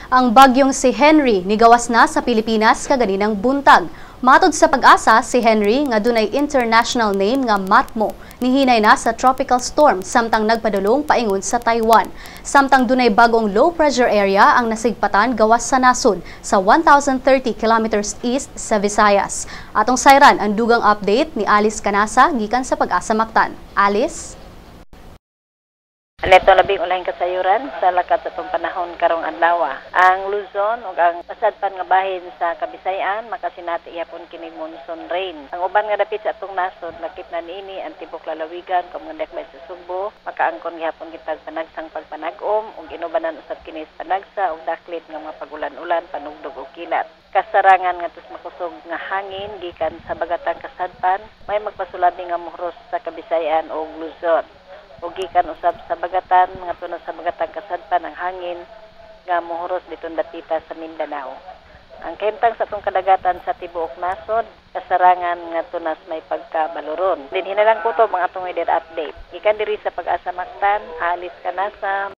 Ang bagyong si Henry nigawas na sa Pilipinas kaganinang buntag. Matod sa PAGASA, si Henry nga dunay international name nga Matmo, nihinay na sa tropical storm samtang nagpadulong paingon sa Taiwan. Samtang dunay bagong low pressure area ang nasigpatan gawas sa nasod sa 1,030 kilometers east sa Visayas. Atong sayran ang dugang update ni Alice Canasa gikan sa PAGASA Mactan. Alice? Neto labing ulahing kasayuran sa lakat sa atong panahon karong adlaw. Ang Luzon ug ang pasadpan nga bahin sa Kabisayan makasinati gihapon kini monsoon rain. Ang uban nga dapit sa atong nasod, lakip na niini ang tibok lalawigan kung mga dakbay sa Sugbo, makaangkon gihapon kitag panagsang pagpanag-om ug inubanan usab kini sa panagsa ug daklit nga mga pagulan-ulan, panugdog ug kilat. Kasarangan nga tos makusog nga hangin gikan sa bagatang kasadpan may magpasulabi nga muhros sa Kabisayan ug Luzon ug gikan usab sa bagatan mga tuno sa bagatang kasadpan ang hangin nga muhuros ditong dapita sa Mindanao. Ang kahimtang sa atong kadagatan sa tibuok nasod, kasarangan nga tunas may pagkabaluron. Dinhi na lang kutob ang atong weather update. Gikan diri sa PAGASA Mactan, Alice Canasa.